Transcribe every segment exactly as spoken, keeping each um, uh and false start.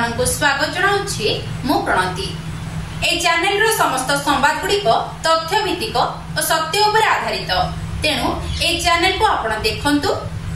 ଆପଣମାନଙ୍କୁ ସ୍ୱାଗତ ଜଣାଉଛି ମୁଁ ପ୍ରଣତି। ଏହି ଚ୍ୟାନେଲର ସମସ୍ତ ସମ୍ବାଦ ଗୁଡ଼ିକ ତଥ୍ୟ ଭିତ୍ତିକ ଓ ସତ୍ୟ ଉପରେ ଆଧାରିତ, ତେଣୁ ଏହି ଚ୍ୟାନେଲକୁ ଆପଣ ଦେଖନ୍ତୁ,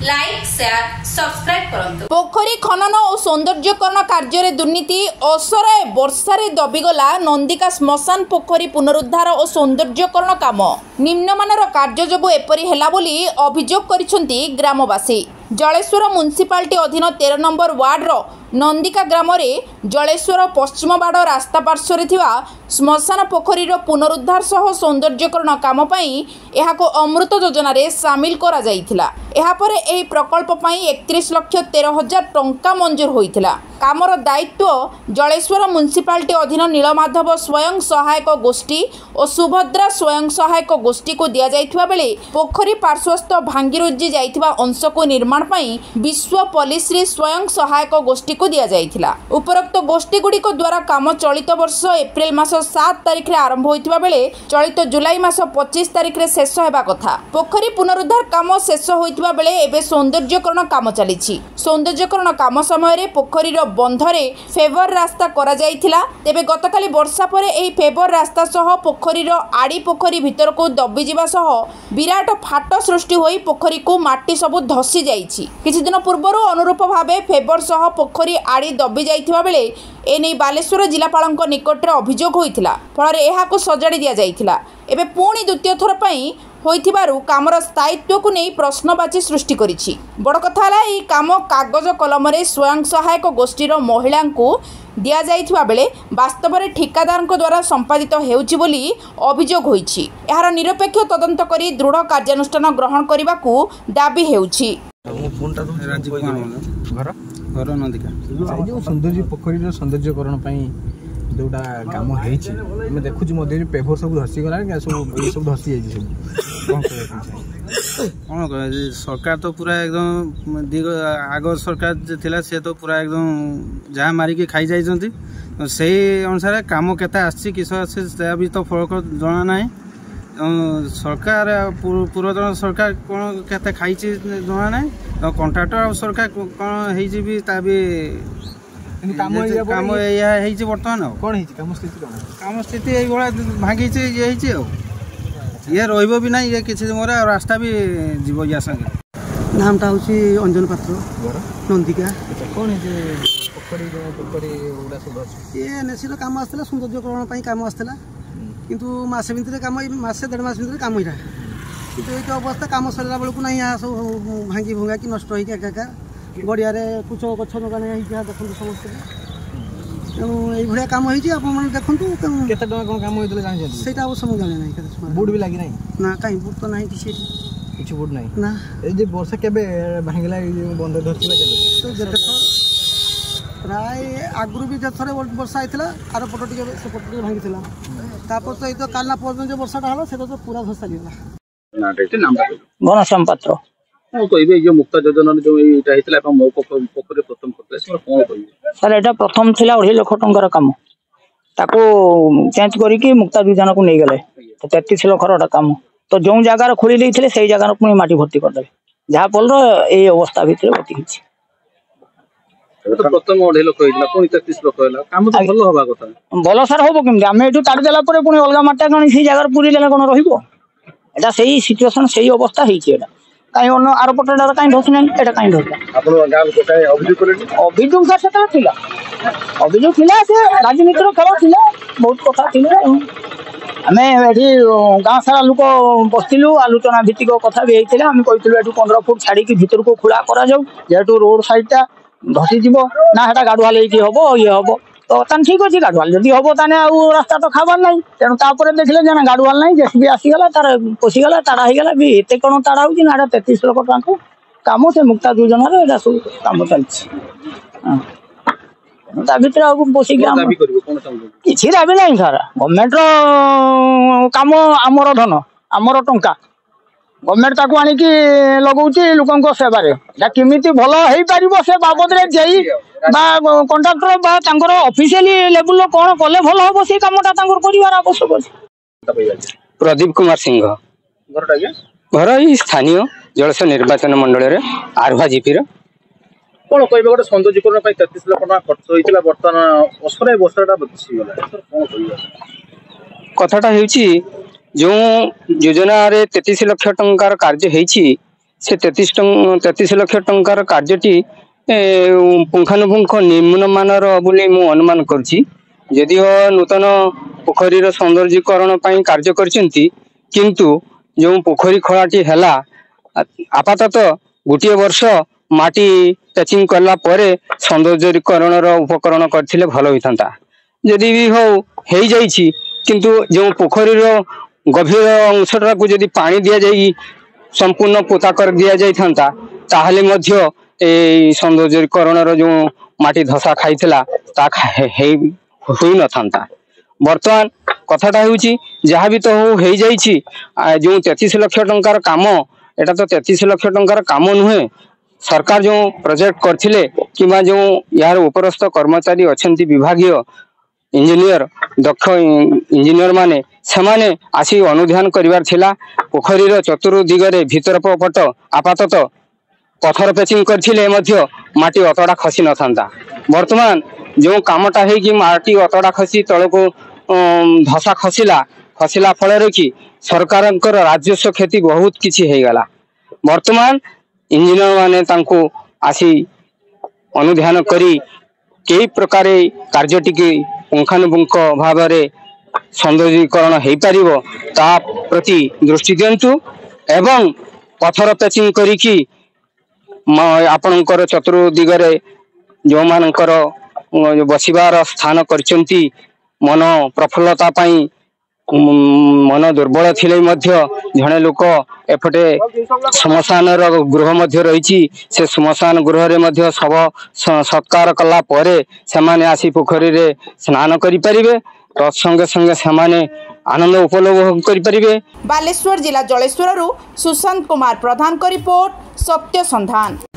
ଲାଇକ୍, ସେୟାର, ସବସ୍କ୍ରାଇବ କରନ୍ତୁ। ପୋଖରୀ ଖନନ ଓ ସୌନ୍ଦର୍ଯ୍ୟକରଣ କାର୍ଯ୍ୟରେ ଦୁର୍ନୀତି। ଅସରାଏ ବର୍ଷାରେ ଦବିଗଲା ନନ୍ଦିକା ଶ୍ମଶାନ ପୋଖରୀ ପୁନରୁଦ୍ଧାର ଓ ସୌନ୍ଦର୍ଯ୍ୟକରଣ କାମ। ନିମ୍ନମାନର କାର୍ଯ୍ୟ ଯୋଗୁଁ ଏପରି ହେଲା ବୋଲି ଅଭିଯୋଗ କରିଛନ୍ତି ଗ୍ରାମବାସୀ। ଜଳେଶ୍ୱର ମ୍ୟୁନିସିପାଲିଟି ଅଧୀନ ତେର ନମ୍ବର ୱାର୍ଡର ନନ୍ଦିକା ଗ୍ରାମରେ ଜଳେଶ୍ୱର ପଶ୍ଚିମବାଡ଼ ରାସ୍ତା ପାର୍ଶ୍ୱରେ ଥିବା ଶ୍ମଶାନ ପୋଖରୀର ପୁନରୁଦ୍ଧାର ସହ ସୌନ୍ଦର୍ଯ୍ୟକରଣ କାମ ପାଇଁ ଏହାକୁ ଅମୃତ ଯୋଜନାରେ ସାମିଲ କରାଯାଇଥିଲା। ଏହାପରେ ଏହି ପ୍ରକଳ୍ପ ପାଇଁ ଏକତିରିଶ ଲକ୍ଷ ତେର ହଜାର ଟଙ୍କା ମଞ୍ଜୁର ହୋଇଥିଲା। କାମର ଦାୟିତ୍ୱ ଜଳେଶ୍ୱର ମ୍ୟୁନିସିପାଲିଟି ଅଧୀନ ନୀଳମାଧବ ସ୍ୱୟଂ ସହାୟକ ଗୋଷ୍ଠୀ ଓ ସୁଭଦ୍ରା ସ୍ୱୟଂ ସହାୟକ ଗୋଷ୍ଠୀକୁ ଦିଆଯାଇଥିବା ବେଳେ ପୋଖରୀ ପାର୍ଶ୍ୱସ୍ଥ ଭାଙ୍ଗିରୁଜି ଯାଇଥିବା ଅଂଶକୁ ନିର୍ମାଣ ପାଇଁ ବିଶ୍ୱ ପଲ୍ଲୀଶ୍ରୀ ସ୍ୱୟଂ ସହାୟକ ଗୋଷ୍ଠୀକୁ ଦିଆଯାଇଥିଲା। ଉପରୋକ୍ତ ଗୋଷ୍ଠୀଗୁଡ଼ିକ ଦ୍ୱାରା କାମ ଚଳିତ ବର୍ଷ ଏପ୍ରିଲ ମାସ ସାତ ତାରିଖରେ ଆରମ୍ଭ ହୋଇଥିବା ବେଳେ ଚଳିତ ଜୁଲାଇ ମାସ ପଚିଶ ତାରିଖରେ ଶେଷ ହେବା କଥା। ପୋଖରୀ ପୁନରୁଦ୍ଧାର କାମ ଶେଷ ହୋଇଥିବା ବେଳେ ଏବେ ସୌନ୍ଦର୍ଯ୍ୟକରଣ କାମ ଚାଲିଛି। ସୌନ୍ଦର୍ଯ୍ୟକରଣ କାମ ସମୟରେ ପୋଖରୀର ବନ୍ଧରେ ଫେଭର ରାସ୍ତା କରାଯାଇଥିଲା। ତେବେ ଗତକାଲି ବର୍ଷା ପରେ ଏହି ଫେଭର ରାସ୍ତା ସହ ପୋଖରୀର ଆଡ଼ି ପୋଖରୀ ଭିତରକୁ ଦବିଯିବା ସହ ବିରାଟ ଫାଟ ସୃଷ୍ଟି ହୋଇ ପୋଖରୀକୁ ମାଟି ସବୁ ଧସି ଯାଇଛି। କିଛିଦିନ ପୂର୍ବରୁ ଅନୁରୂପ ଭାବେ ଫେଭର ସହ ପୋଖରୀ ଆଡ଼ି ଦବି ଯାଇଥିବା ବେଳେ ଏନେଇ ବାଲେଶ୍ୱର ଜିଲ୍ଲାପାଳଙ୍କ ନିକଟରେ ଅଭିଯୋଗ ହୋଇଥିଲା। ଫଳରେ ଏହାକୁ ସଜାଡ଼ି ଦିଆଯାଇଥିଲା। ଏବେ ପୁଣି ଦ୍ୱିତୀୟ ଥର ପାଇଁ ହୋଇଥିବାରୁ କାମର ସ୍ଥାୟିତ୍ୱକୁ ନେଇ ପ୍ରଶ୍ନବାଚୀ ସୃଷ୍ଟି କରିଛି। ବଡ଼ କଥା ହେଲା, ଏହି କାମ କାଗଜ କଲମରେ ସ୍ୱୟଂ ସହାୟକ ଗୋଷ୍ଠୀର ମହିଳାଙ୍କୁ ଦିଆଯାଇଥିବା ବେଳେ ବାସ୍ତବରେ ଠିକାଦାରଙ୍କ ଦ୍ୱାରା ସମ୍ପାଦିତ ହେଉଛି ବୋଲି ଅଭିଯୋଗ ହୋଇଛି। ଏହାର ନିରପେକ୍ଷ ତଦନ୍ତ କରି ଦୃଢ଼ କାର୍ଯ୍ୟାନୁଷ୍ଠାନ ଗ୍ରହଣ କରିବାକୁ ଦାବି ହେଉଛି। ରାଜୀବ କୁମାର ମଣ୍ଡଳ। ଘର? ଘର ନନ୍ଦିକା। ଏଇ ଯେଉଁ ସୌନ୍ଦର୍ଯ୍ୟ ପୋଖରୀର ସୌନ୍ଦର୍ଯ୍ୟକରଣ ପାଇଁ ଯୋଉଟା କାମ ହେଇଛି, ଆମେ ଦେଖୁଛୁ ମଧ୍ୟ ପେଭର ସବୁ ଧସିଗଲାଣି, ସବୁ ଇଏ ସବୁ ଧସି ଯାଇଛି ସବୁ। କ'ଣ କହିବାକୁ ଚାହୁଁଛନ୍ତି? କ'ଣ କହିବା, ସରକାର ତ ପୁରା ଏକଦମ ଦିଗ ଆଗ ସରକାର ଯେ ଥିଲା, ସେ ତ ପୁରା ଏକଦମ ଯାହା ମାରିକି ଖାଇଯାଇଛନ୍ତି। ସେଇ ଅନୁସାରେ କାମ କେତେ ଆସିଛି, କିସ ଆସିଛି, ତାହା ବି ତ ଫଳକ ଜଣା ନାହିଁ। ସରକାର, ପୂର୍ବତନ ସରକାର କ'ଣ କେତେ ଖାଇଛି ଜଣା ନାହିଁ। କଣ୍ଟ୍ରାକ୍ଟର ଆଉ ସରକାର କ'ଣ ହେଇଛି ବି ତା ବି କାମ କାମ ଏଇଆ ହେଇଛି ବର୍ତ୍ତମାନ। ଆଉ କ'ଣ ହେଇଛି କାମ ସ୍ଥିତି? କ'ଣ କାମ ସ୍ଥିତି ଏଇଭଳିଆ ଭାଙ୍ଗିଛି, ଇଏ ହେଇଛି, ଆଉ ଇଏ ରହିବ ବି ନାହିଁ ଇଏ କିଛି ମୋର, ଆଉ ରାସ୍ତା ବି ଯିବ ୟା ସାଙ୍ଗରେ। ନାମଟା ହେଉଛି ଅଞ୍ଜନ ପାତ୍ର। ଘର? ନନ୍ଦିକା। କ'ଣ ହେଇଛି ପୋଖରୀ, ପୋଖରୀ ଗୁଡ଼ା ସବୁ ଅଛି? ଇଏ ଏନ୍ଏସିର କାମ ଆସିଥିଲା, ସୌନ୍ଦର୍ଯ୍ୟକରଣ ପାଇଁ କାମ ଆସିଥିଲା, କିନ୍ତୁ ମାସେ ଭିତରେ କାମ, ମାସେ ଦେଢ଼ ମାସ ଭିତରେ କାମ ହେଇଲା, କିନ୍ତୁ ଏଇଟା ଅବସ୍ଥା କାମ ସରିଲା ବେଳକୁ ନାହିଁ, ଏହା ସବୁ ଭାଙ୍ଗି ଭୁଙ୍ଗା କି ନଷ୍ଟ ହେଇକି ଏକା ଗଡ଼ିଆରେ କୁଚ ଗଛ ଲଗାଣ ହେଇକି ଦେଖନ୍ତୁ ସମସ୍ତେ। ତେଣୁ ଏଇଭଳିଆ କାମ ହେଇଛି, ଆପଣମାନେ ଦେଖନ୍ତୁ। କେତେ ଟଙ୍କା କ'ଣ କାମ ହେଇଥିଲା ଜାଣିଛନ୍ତି? ସେଇଟା ଅବଶ୍ୟ ମୁଁ ଜାଣେ ନାହିଁ। କେତେ ବୁଟ୍ ବି ଲାଗି ନାହିଁ? ନା, କାହିଁ ବୁଟ୍ ତ ନାହିଁ କିଛି ଏଠି, କିଛି ବୁଟ୍ ନାହିଁ ନା। ଏଇ ଯେ ବର୍ଷା କେବେ ଭାଙ୍ଗିଲା, ଏଇ ଯେଉଁ ବନ୍ଧ ଧରିଥିଲା କେବେ? ତ ଯେତେ ଥର ପ୍ରାୟ ଆଗରୁ ବି ଯେତେ ବର୍ଷା ହେଇଥିଲା, ଆର ପଟ ଟିକେ ସେପଟ ଟିକେ ଭାଙ୍ଗିଥିଲା। ତାପରେ ତ ଏଇ ତ କାଲି ନା ପରଦିନ ଯେଉଁ ବର୍ଷାଟା ହେଲା, ସେଟା ତ ପୁରା ଧସି ଚାଲିଗଲା। ଘନଶ୍ୟାମ ପାତ୍ର। କଣ କହିବେ, ଏଇ ଯୋଉ ମୁକ୍ତା ଯୋଜନାରେ ଯୋଉ ଏଇଟା ହେଇଥିଲା ଏବଂ ମୋ ପୋଖରୀ ପ୍ରଥମ କରିଥିଲେ, ସେମାନେ କଣ କହିବେ? ସାର୍, ଏଇଟା ପ୍ରଥମ ଥିଲା ଅଢେଇ ଲକ୍ଷ ଟଙ୍କାର କାମ, ତାକୁ ଚେଞ୍ଜ କରିକି ମୁକ୍ତା ଯୋଜନାକୁ ନେଇଗଲେ ତେତିଶ ଲକ୍ଷର ଗୋଟେ କାମ। ତ ଯୋଉ ଜାଗାରେ ଖୋଳି ଦେଇଥିଲେ, ସେଇ ଜାଗାରେ ପୁଣି ମାଟି ଭର୍ତ୍ତି କରିଦେଲେ, ଯାହା ଫଳରେ ଏଇ ଅବସ୍ଥା ଭିତରେ ଗତି ହେଇଛି। ପ୍ରଥମ ଅଢେଇ ଲକ୍ଷ ହେଇଥିଲା, ପୁଣି ତେତିଶ ଲକ୍ଷ ହେଲା, କାମ ତ ଭଲ ହବା କଥା। ଭଲ ସାର୍ ହବ କେମିତି? ଆମେ ଏଠୁ ତାଡ଼ି ଦେଲା ପରେ ପୁଣି ଅଲଗା ମାଟିଟା କଣ ସେଇ ଜାଗାରେ ପୁରୀ ଦେଲେ କଣ ରହିବ? ଏଟା ସେଇ ସିଚୁଏସନ, ସେଇ ଅବସ୍ଥା ହେଇଛି। ଏଟା କାହିଁ ଅନ୍ୟ ଆର ପଟଟା କାହିଁ ଧସି ନାହିଁ, ଏଟା କାହିଁ ଧସିଲା? ଆପଣ ଗାଁ ଲୋକ କାହିଁ ଅଭିଯୋଗ କଲେନି? ଅଭିଯୋଗ ସାର୍ ସେତେବେଳେ ଥିଲା, ଅଭିଯୋଗ ଥିଲା, ସେ ରାଜନୀତିର ଖେଳ ଥିଲା, ବହୁତ କଥା ଥିଲା। ଆମେ ଏଠି ଗାଁ ସାରା ଲୋକ ବସିଥିଲୁ, ଆଲୋଚନା ଭିତ୍ତିକ କଥା ବି ହେଇଥିଲା। ଆମେ କହିଥିଲୁ ଏଠୁ ପନ୍ଦର ଫୁଟ ଛାଡିକି ଭିତରକୁ ଖୋଳା କରାଯାଉ, ଯେହେତୁ ରୋଡ ସାଇଡଟା ଧସିଯିବ ନା, ସେଟା ଗାଡୁଆଲ ହେଇକି ହବ, ଇଏ ହବ। ତ ତାହେଲେ ଠିକ ଅଛି, ଗାଡୁଆଲ ଯଦି ହବ ତାହେଲେ ଆଉ ରାସ୍ତା ତ ଖାବାର ନାହିଁ। ତେଣୁ ତାପରେ ଦେଖିଲେ ଯେ ନା, ଗାଡୁଆଲ ନାହିଁ, ଜେସିବି ଆସିଗଲା, ତାର ପଶିଗଲା, ତାଡା ହେଇଗଲା ବି। ଏତେ କଣ ତାଡା ହଉଛି ନା, ଏଟା ତେତିଶ ଲକ୍ଷ ଟଙ୍କା କାମ, ସେ ମୁକ୍ତା ଯୋଜନାରେ ଏଟା ସବୁ କାମ ଚାଲିଛି। ତା ଭିତରେ ଆଉ ବସିକି କିଛି ଦାବି ନାହିଁ ସାର୍। ଗଭର୍ଣ୍ଣମେଣ୍ଟର କାମ, ଆମର ଧନ, ଆମର ଟଙ୍କା, ଗଭର୍ଣ୍ଣମେଣ୍ଟ ତାକୁ ଆଣିକି ଲଗଉଛି ଲୋକଙ୍କ ସେବାରେ। ଏଟା କେମିତି ଭଲ ହେଇପାରିବ ସେ ବାବଦରେ ଜେଇ ବା କଣ୍ଟ୍ରାକ୍ଟର ବା ତାଙ୍କର ଅଫିସିଆଲି ଲେବୁଲର କଣ କଲେ ଭଲ ହବ, ସେଇ କାମଟା ତାଙ୍କର କରିବାର ଆବଶ୍ୟକ ଅଛି। ପ୍ରଦୀପ କୁମାର ସିଂହ। ଘର ଏଇ ସ୍ଥାନୀୟ ଜଳେଶ୍ୱର ନିର୍ବାଚନ ମଣ୍ଡଳୀରେ ଆରୁହା ଜିପିର। କଣ କହିବେ ଗୋଟେ ସୌନ୍ଦର୍ଯ୍ୟକରଣ ପାଇଁ ତେତିଶ ଲକ୍ଷ ଟଙ୍କା ଖର୍ଚ୍ଚ ହେଇଥିଲା ବର୍ତ୍ତମାନ ଅସରାଏ ବର୍ଷାଟା ବସିଗଲା କଣ କହିବେ କଥାଟା ହେଉଛି ଯେଉଁ ଯୋଜନାରେ ତେତିଶ ଲକ୍ଷ ଟଙ୍କାର କାର୍ଯ୍ୟ ହେଇଛି ସେ ତେତିଶ ତେତିଶ ଲକ୍ଷ ଟଙ୍କାର କାର୍ଯ୍ୟଟି ପୁଙ୍ଖାନୁପୁଙ୍ଖ ନିମ୍ନମାନର ବୋଲି ମୁଁ ଅନୁମାନ କରୁଛି ଯଦିଓ ନୂତନ ପୋଖରୀର ସୌନ୍ଦର୍ଯ୍ୟକରଣ ପାଇଁ କାର୍ଯ୍ୟ କରିଛନ୍ତି କିନ୍ତୁ ଯେଉଁ ପୋଖରୀ ଖୋଳାଟି ହେଲା ଆପାତତଃ ଗୋଟିଏ ବର୍ଷ ମାଟି ପ୍ୟାଚିଂ କଲା ପରେ ସୌନ୍ଦର୍ଯ୍ୟକରଣର ଉପକରଣ କରିଥିଲେ ଭଲ ହୋଇଥାନ୍ତା ଯଦି ବି ହଉ ହେଇଯାଇଛି କିନ୍ତୁ ଯେଉଁ ପୋଖରୀର ଗଭୀର ଅଂଶଟାକୁ ଯଦି ପାଣି ଦିଆଯାଇ ସମ୍ପୂର୍ଣ୍ଣ ପୋତା କରି ଦିଆଯାଇଥାନ୍ତା ତାହେଲେ ମଧ୍ୟ ଏଇ ସୌନ୍ଦର୍ଯ୍ୟକରଣର ଯେଉଁ ମାଟି ଧସା ଖାଇଥିଲା ତା ହେଇ ହୋଇନଥାନ୍ତା ବର୍ତ୍ତମାନ କଥାଟା ହେଉଛି ଯାହା ବି ତ ହଉ ହେଇଯାଇଛି ଯେଉଁ ତେତିଶ ଲକ୍ଷ ଟଙ୍କାର କାମ ଏଟା ତ ତେତିଶ ଲକ୍ଷ ଟଙ୍କାର କାମ ନୁହେଁ ସରକାର ଯେଉଁ ପ୍ରୋଜେକ୍ଟ କରିଥିଲେ କିମ୍ବା ଯେଉଁ ଏହାର ଉପରସ୍ଥ କର୍ମଚାରୀ ଅଛନ୍ତି ବିଭାଗୀୟ ଇଞ୍ଜିନିୟର ଦକ୍ଷ ଇଞ୍ଜିନିୟର ମାନେ ସେମାନେ ଆସି ଅନୁଧ୍ୟାନ କରିବାର ଥିଲା ପୋଖରୀର ଚତୁର୍ଦିଗରେ ଭିତର ପଟ ଆପାତତଃ ପଥର ପେଚିଂ କରିଥିଲେ ମଧ୍ୟ ମାଟି ଅତଡ଼ା ଖସି ନଥାନ୍ତା ବର୍ତ୍ତମାନ ଯେଉଁ କାମଟା ହେଇକି ମାଟି ଅତଡ଼ା ଖସି ତଳକୁ ଧସା ଖସିଲା ଖସିଲା ଫଳରେ କି ସରକାରଙ୍କର ରାଜସ୍ୱ କ୍ଷତି ବହୁତ କିଛି ହେଇଗଲା ବର୍ତ୍ତମାନ ଇଞ୍ଜିନିୟର ମାନେ ତାଙ୍କୁ ଆସି ଅନୁଧ୍ୟାନ କରି କେଇ ପ୍ରକାର କାର୍ଯ୍ୟଟିକି ପୁଙ୍ଖାନୁପୁଙ୍ଖ ଭାବରେ ସୌନ୍ଦର୍ଯ୍ୟକରଣ ହେଇପାରିବ ତା ପ୍ରତି ଦୃଷ୍ଟି ଦିଅନ୍ତୁ ଏବଂ ପଥର ପ୍ୟାଚିଂ କରିକି ଆପଣଙ୍କର ଚତୁର୍ଦିଗରେ ଯେଉଁମାନଙ୍କର ବସିବାର ସ୍ଥାନ କରିଛନ୍ତି ମନ ପ୍ରଫୁଲ୍ଲତା ପାଇଁ ମନ ଦୁର୍ବଳ ଥିଲେ ମଧ୍ୟ ଜଣେ ଲୋକ ଏପଟେ ଶ୍ମଶାନର ଗୃହ ମଧ୍ୟ ରହିଛି ସେ ଶ୍ମଶାନ ଗୃହରେ ମଧ୍ୟ ଶବ ସତ୍କାର କଲା ପରେ ସେମାନେ ଆସି ପୋଖରୀରେ ସ୍ନାନ କରିପାରିବେ ତତ୍ସଙ୍ଗେ ସଙ୍ଗେ ସେମାନେ ଆନନ୍ଦ ଉପଭୋଗ କରିପାରିବେ ବାଲେଶ୍ୱର ଜିଲ୍ଲା ଜଳେଶ୍ୱରରୁ ସୁଶାନ୍ତ କୁମାର ପ୍ରଧାନଙ୍କ ରିପୋର୍ଟ ସତ୍ୟ ସନ୍ଧାନ